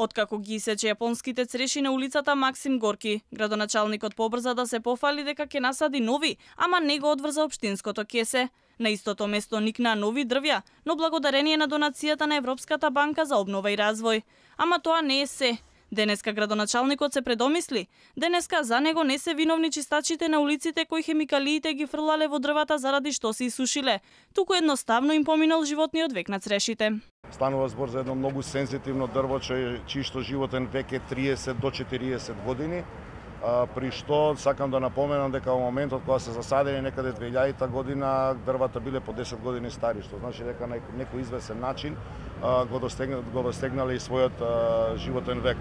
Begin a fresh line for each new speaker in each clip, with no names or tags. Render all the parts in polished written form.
Откако ги исече јапонските цреши на улицата Максим Горки, градоначалникот побрза да се пофали дека ќе насади нови, ама не го одврза општинското кесе. На истото место никнаа нови дрвја, но благодарение на донацијата на Европската банка за обнова и развој. Ама тоа не е се. Денеска градоначалникот се предомисли. Денеска за него не се виновни чистачите на улиците кои хемикалиите ги фрлале во дрвата заради што се исушиле, туку едноставно им поминал животниот век на црешите.
Станува збор за едно многу сензитивно дрво, чијшто животен век е 30 до 40 години, при што сакам да напоменам дека во моментот кога се засадени некаде 2000 година дрвата биле по 10 години стари, што значи дека на некој известен начин го достигнале и својот животен век.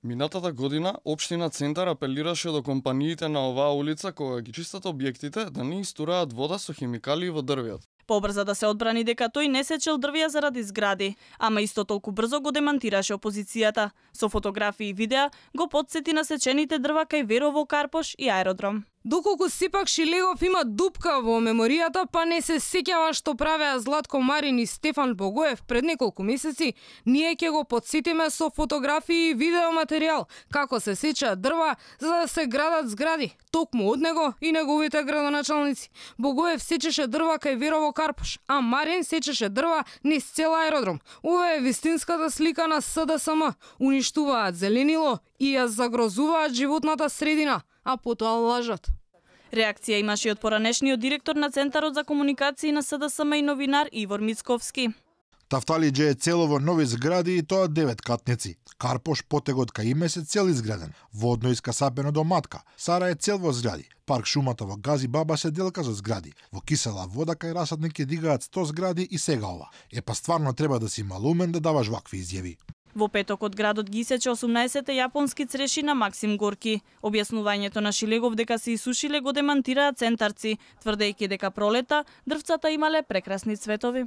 Минатата година општина Центар апелираше до компаниите на оваа улица кога ги чистат објектите да не истураат вода со хемикалии во дрвјата.
Побрза да се одбрани дека тој не сечел дрвја заради згради, ама исто толку брзо го демантираше опозицијата. Со фотографии и видеа го потсети на сечените дрва кај Верово Карпош и аеродром.
Доколку сепак Шилегов има дупка во меморијата, па не се сеќава што правеа Златко Марин и Стефан Богоев пред неколку месеци, ние ќе го потсетиме со фотографии и видеоматеријал како се сечат дрва за да се градат згради, токму од него и неговите градоначалници. Богоев сечеше дрва кај Верово Карпош, а Марин сечеше дрва низ цел аеродром. Ова е вистинската слика на СДСМ. Уништуваат зеленило и ја загрозуваат животната средина, а потоа лажат.
Реакција имаше и од поранешниот директор на Центарот за комуникации на СДСМ и новинар Ивор Мицковски.
Тафталиџе е цело во нови згради и тоа 9 катници. Карпош потегот кај име се цел изграден. Водно искасапено до матка. Сара е цел во згради. Парк шумата во Гази Баба се делка за згради. Во кисела вода кај расадник ќе дигаат 100 згради и сега ова. Па стварно треба да си малумен да даваш вакви изјави.
Во петокот градот ги исече 18 јапонски цреши на Максим Горки. Објаснувањето на Шилегов дека се исушиле го демантираа центарци, тврдејќи дека пролета дрвцата имале прекрасни цветови.